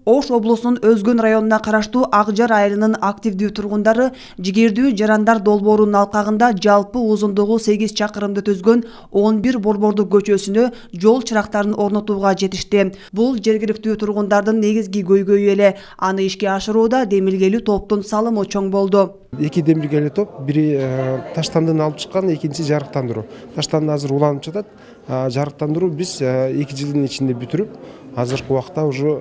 Ош облусунун Өзгөн районуна караштуу Акжар айылынын активдүү тургундары жигердүү жарандар долбоорунун алкагында жалпы узундугу 8 чакырымды түзгөн 11 борбордук көчөсүнө жол чырактарын орнотууга жетишти. Бул жергиликтүү тургундардын негизги көйгөйү эле. Аны ишке ашырууда демилгелүү топтун салымы чоң болду. Эки демилгелүү топ, бири таштандыны алып чыккан, экинчиси жарыктандыруу. Таштанды азыр уланып жатат. Жарыктандыруу биз 2 жылдын ичинде бүтүрүп, азыркы убакта уже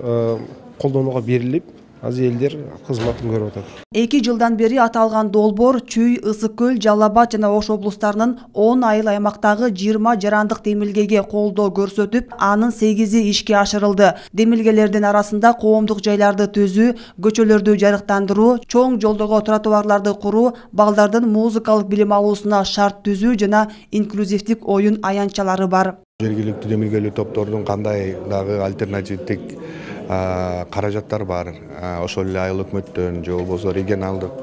колдонууга берилип, азыр элдер кызматын көрүп атат. 2 жылдан бери аталган долбоор Чүй, Ысык көл, Жалал Абад жана Ош облустарынын 10 айыл аймактагы 20 жарандык демилгеге колдоо көрсөтүп, анын 8и ишке ашырылды. Демилгелердин арасында коомдук жайларды түзүү, көчөлөрдү жарыктандыруу, чоң жолдого тротуарларды куруу, балдардын музыкалык билим алуусуна шарт түзүү жана инклюзивдик оюн аянтчалары бар. Жергиликтүү демилгелүү топтордун кандай дагы альтернативдик каражаттар бар. Ошол эле айыл өкмөттөн, же болбосо регионалдык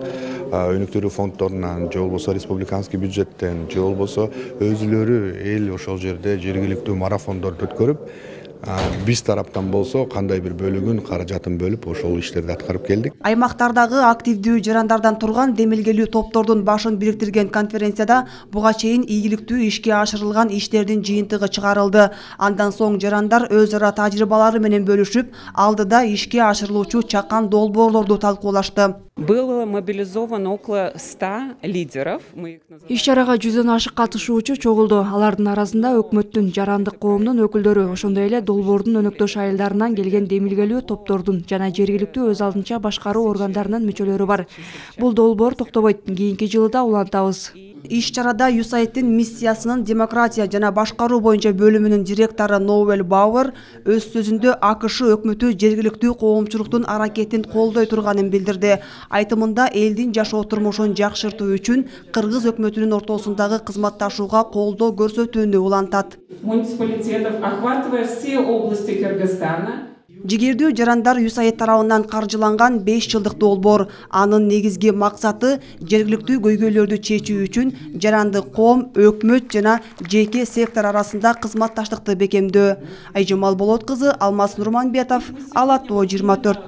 өнүктүрүү фонддорунан, же болбосо республиканский бюджеттен, же болбосо өзүлөрү эл ошол жерде жергиликтүү марафондорду өткөрүп, биз тараптан болсо кандай бир бөлүгүн каражатын бөлүп ошол иштерди аткарып келдик. Аймактардагы активдүү жарандардан турган демилгелүү топтордун башын бириктирген конференцияда буга чейин ийгиликтүү ишке ашырылган иштердин жыйынтыгы чыгарылды. Андан соң жарандар өз ара тажрыйбалары менен бөлүшүп, алдыда ишке ашырылуучу чакан долбоорлорду талкуулашты. Было мобилизовано около 100 лидеров. Иш-чарага 100дөн ашык катышуучу чогулду. Алардын арасында өкмөттүн, жарандык коомдун өкүлдөрү, ошондой эле долбоордун өнөктөш айылдарынан келген демилгелүү топтордун жана жергиликтүү өз алдынча башкаруу органдарынын мүчөлөрү бар. Бул долбоор токтобойт. Кийинки жылы да улантабыз. Иш-чарада USAID-тин миссиясынын демократия жана башкаруу боюнча бөлүмүнүн директору Ноуэль Бауэр өз сөзүндө АКШ өкмөтү жергиликтүү коомчулуктун аракетин колдой турганын билдирди. Айтымында элдин жашоо турмушун жакшыртуу үчүн кыргыз өкмөтүнүн ортосундагы кызматташууга колдоо көрсөтүүнү улантат. Муниципалитетов охватывая все области Кыргызстана. Жигердүү жарандар USAID тарабынан каржыланган 5 жылдык долбоор. Анын негизги максаты жергиликтүү көйгөйлөрдү чечүү үчүн жарандык коом, өкмөт жана жеке сектор арасында кызматташтыкты бекемдөө. Айжамал Болот кызы, Алмаз Нурманбетов, Ала Тоо 24.